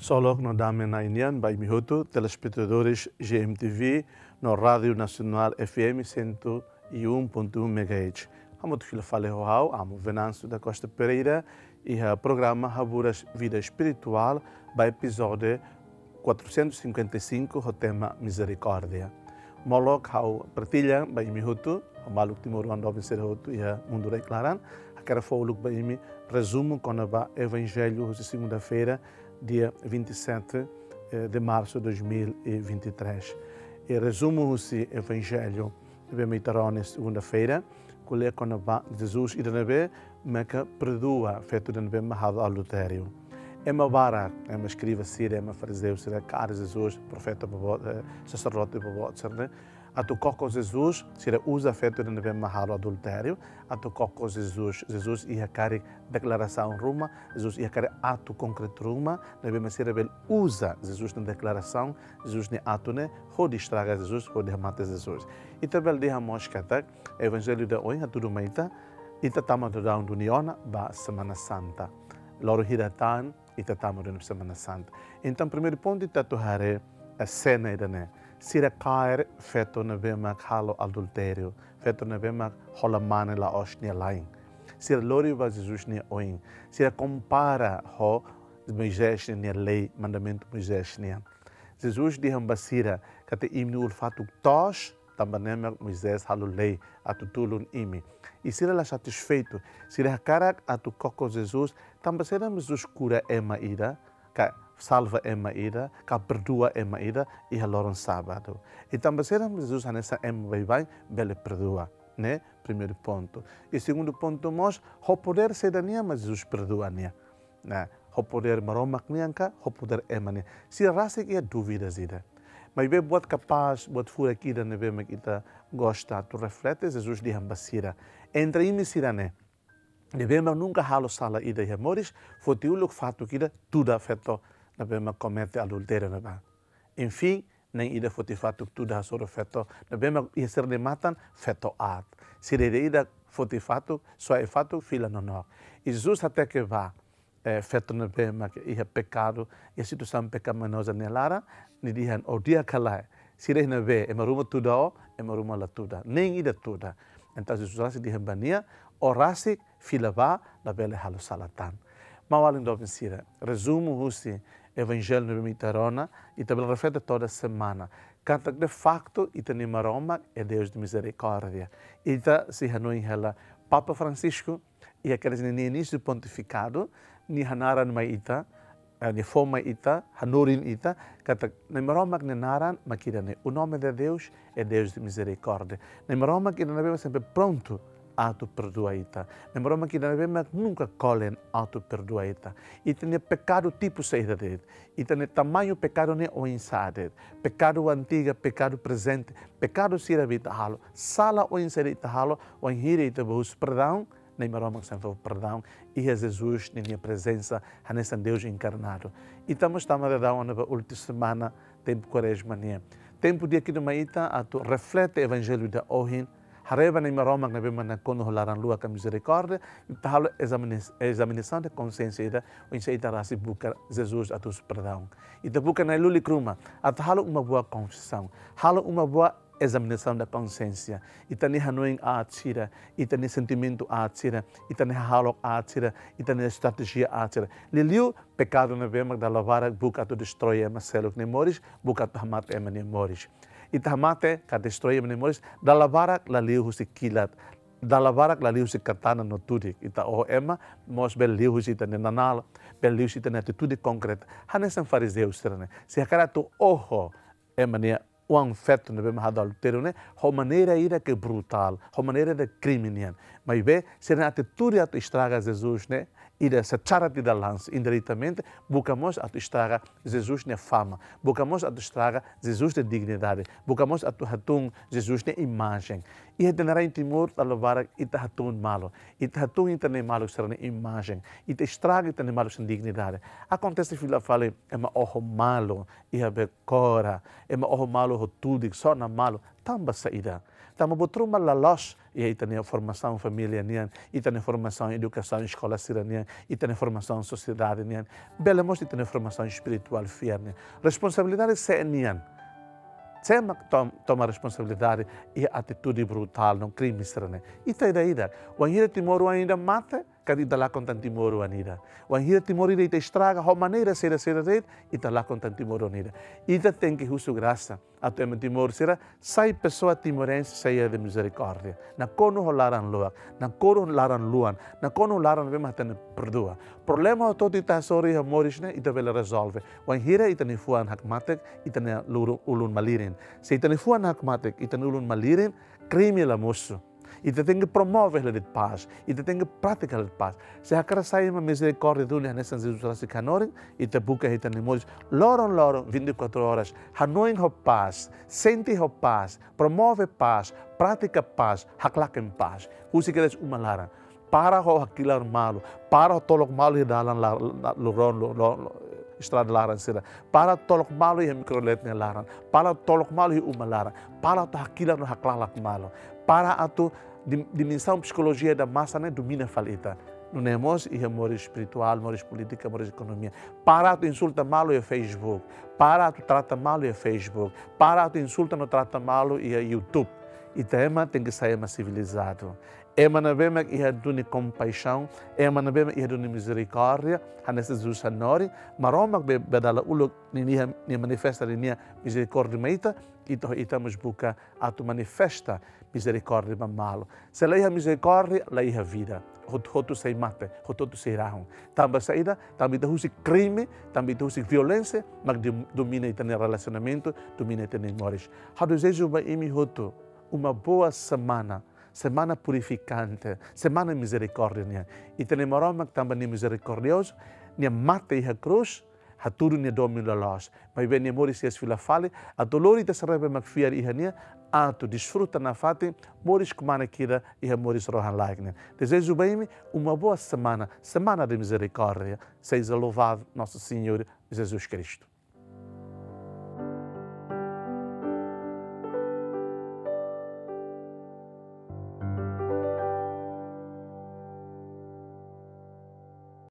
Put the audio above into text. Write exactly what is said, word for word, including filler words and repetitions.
Ksolok no dame Na'i nian ba imi hotu, telespetadores G M T V no Rádio Nacional F M cento e um ponto um megahertz. Hamutuk fila fali ho ha'u, Amo Venâncio da Costa Pereira, iha programa Haburas Vida Espiritual, ba epizódiu quatrocentos e cinquenta e cinco, ho tema Mizerikórdia. Molok ha'u partilla ba imi hotu, ho maluk timoroan doben sira hotu iha mundu rai-klaran, hakarak fó uluk ba imi rezumu kona-ba Evanjellu husi segunda-feira, dia vinte e sete, eh, de março de dois mil e vinte e três. I rezumu husi Evanjellu ne'ebé mak ita rona iha segunda-feira, ko'alia kona-ba Jesus ida ne'ebé maka perdua feto ida ne'ebé mak halo adultériu. Ema barak, ema eskriva sira, ema farizeu sira, kaer Jesus, profeta boboot, eh, saserdote boboot sira ne'e, atu koko Jesus, sira uza feto ida ne'ebé mak halo adultériu, atu koko Jesus. Jesus iha karik deklarasaun ruma, Jesus iha karik atu konkretu ruma, ne'ebé mak sira bele uza Jesus nia deklarasaun, Jesus nia atu ne'e, hodi estraga Jesus, hodi hamate Jesus. Ita bele dehan mós katak, Evanjellu ida ohin hatudu mai ita, ita tama daudaun duni ona ba Semana Santa. Loron hira tan, ita tama duni Semana Santa. Entaun, primeiru pontu ita atu haree, eh, sena ida-ne'e. Sira kaer feto ne'ebé mak halo adultériu, feto ne'ebé mak hola mane la'ós nia la'en. Sira lori ba Jesus nia oin. Sira kompara ho Moisés nia lei, mandamentu Moisés nian. Jesus dehan ba sira katak imi-nia ulun-fatuk toos, tanba ne'e mak Moisés halo lei atu tulun imi. I sira la satisfeitu, sira hakarak atu koko Jesus, tanba saida mak Jesus kura ema ida, ka salva ema ida, ka perdua ema ida iha loron sábadu. I tanba saida mak Jesus hanesan ema baibain bele perdua, ne'e primeiru pontu. I segundu pontu mós, ho podér saida nian mak Jesus perdua nia. Ne'e, ho podér Maromak nian ka, ho podér ema nian. Sira rasik iha dúvida ida. Maibé buat kapás, buat furak ida ne'ebé mak ita gosta atu reflete, Jesus dehan ba sira. Entre imi sira-ne'e, ne'ebé mak nunka halo sala ida iha moris, foti uluk fatuk ida, tuda feto ne'ebé mak komete adultériu ne'ebá. Enfim, na'in ida foti fatuk tuda hasoru feto ne'ebé mak iha sira-nia matan feto aat. Sira ida-idak foti fatuk, soe fatuk, fila nonook. I Jesus hateke ba, eh, feto ne'ebé mak iha pekadu, iha situasaun pekaminoza nia laran, nia dehan: "Ó di'ak ka lae? Sira iha ne'ebé, ema ruma tuda ó, ema ruma la tuda? Na'in ida tuda." Entaun Jesus rasik dehan ba nia: "Ó rasik fila bá, labele halo sala tan." Maun-alin doben sira, rezumu husi Evanjellu ne'ebé mak ita rona, ita bele reflete toda semana. Katak de faktu ita-nia Maromak é Deus de mizerikórdia. Ita sei hanoin hela Papa Francisco, iha kedas nia inísiu pontifikadu, nia hanaran mai ita, eh, nia fó mai ita, hanorin ita, katak Na'i Maromak nia naran mak ida-ne'e: "O nome de Deus é Deus de misericórdia." Na'i Maromak ida ne'ebé mak sempre prontu atu perdua ita. Na'i Maromak ida ne'ebé mak nunka kolen atu perdua ita. Ita-nia pekadu tipu saida de'it, ita-nia tamañu pekadu ne'e oinsá de'it, pekadu antiga, pekadu prezente, pekadu sira be ita halo, sala oinsá de'it ita halo, wainhira ita bá husu perdaun, Na'i Maromak sempre fó perdaun, iha Jesus ninia prezensa, hanesan Deus enkarnadu. Ita mós tama daudaun ona ba última semana tempu Kuarezma nian. Tempu di'ak ida mai ita atu reflete Evanjellu ida ohin, haree ba Na'i Maromak ne'ebé mak nakonu ho laran-luak ka mizerikórdia, ita halo ezamina-, ezaminesaun de konxiénsia ida, oinsá ita rasik buka Jesus atu husu perdaun. Ita buka Na'i lulik ruma, atu halo uma boa konfesaun, halo uma boa ezaminesaun da konxiénsia. Ita-nia hanoin aat sira, ita-nia sentimentu aat sira, ita-nia hahalok aat sira, ita-nia estratéjia aat sira. Liuliu pekadu ne'ebé mak dala barak buka atu destroi ema seluk nia moris, buka atu hamate ema nia moris. Ita hamate ka destroi ema nia moris, dala barak la liu husi kilat, dala barak la liu husi katana no tudik. Ita oho ema, mós bele liu husi ita-nia nanál, bele liu husi ita-nia atitude konkreta. Hanesan farizeu sira-ne'e. Se hakarak atu oho ema nia oan feto ne'ebé mak halo adultériu ne'e, ho maneira ida ke brutál, ho maneira ida krime nian. Maibé, sira-nia atitude atu estraga Jesus ne'e, ida secara tidak langsung, indiretamente, buka mós atu estraga Jesus nia fama, buka mós atu estraga Jesus nia dignidade, buka mós atu hatún Jesus nia imajen. Iha ita-nia rai Timor, dala barak ita hatún malu. Ita hatún ita-nia maluk sira-nia imajen. Ita estraga ita-nia maluk sira-nia dignidade. Akontese fila fali ema oho malu iha Bekora, ema oho malu ho tudik, sona malu, tanba saida? Tanba buat ruma la loos iha ita-nia formasaun família nian, ita-nia formasaun edukasaun eskola sira-nian, ita-nia formasaun sosiedade nian, bele mós ita-nia formasaun espirituál fiar nian. Responsabilidade sé nian. Sé mak tom-, toma responsabilidade iha atitude brutál no krime sira-ne'e. Ita ida-idak. Wainhira timoroan ida mate, karik ita lakon tan timoroan ida. Wainhira timoroan ida ita estraga ho maneira saida-saida de'it, ita lakon tan timoroan ida. Ita tenke husu grasa atu ema Timor sira sai pesoa timorense cheia de mizerikórdia. Nakonu ho laran luak, nakonu ho laran luan, nakonu ho laran ne'ebé mak hatene perdua. Problema hotu-hotu ita hasoru iha moris ne'e, ita bele rezolve wainhira ita-nia fuan hakmatek, ita-nia luru-, ulun malirin. Se ita-nia fuan hakmatek, ita-nia ulun malirin, krime la mosu. Ita tenke promove hela de'it pás, ita tenke pratika hela de'it pás. Se hakarak sai ema mizerikórdia duni hanesan Jesus rasik hanorin, ita buka iha ita-nia moris loron-loron, vinte e quatro horas, hanoin ho pás, sente ho pás, promove pás, pratika pás, haklaken pás. Husik kedas uma laran. Para ho hakilar malu, para ho tolok malu iha dalan la-, la-, loron, lo-, lo-, lo-, estrada laran sira. Para tolok malu iha mikrolet nia laran. Para tolok malu iha uma laran. Para atu hakilar no haklalak malu. Para atu dim-, dimensaun psikolojia ida masa ne'e domina fali ita. Nune'e mós iha moris espirituál, moris polítika, moris ekonomia. Para atu insulta malu iha Facebook. Para atu trata malu iha Facebook. Para atu insulta no trata malu iha YouTube. Ita ema tenke sai ema sivilizadu. Ema ne'ebé mak iha duni kompaixaun, ema ne'ebé mak iha duni mizerikórdia, hanesan Jesus hanorin, Maromak be, be dala uluk ninia, nia manifesta ninia mizerikórdia mai ita, ita, ita mós buka atu manifesta mizerikórdia ba malu. Se la iha mizerikórdia, la iha vida. Hotu-hotu sei mate, hotu-hotu sei rahun. Tanba saida, tanba ita husik krime, tanba ita husik violénsia, mak dom-, domina ita-nia relasionamentu, domina ita-nia moris. Ha'u dezeja ba imi hotu uma boa semana, semana purifikante, semana mizerikórdia nian. Ita-nia Maromak tanba nia mizerikordiozu, nia mate iha krús, hatudu nia domin loloos. Maibé nia moris iha fila fali, atu lori ita sira ne'ebé mak fiar iha nia, atu desfruta nafatin moris kmanek ida iha moris rohan-laek nian. Dezeja ba imi uma boa semana, semana de misericórdia. Seja louvado nosso Senhor Jesus Cristo.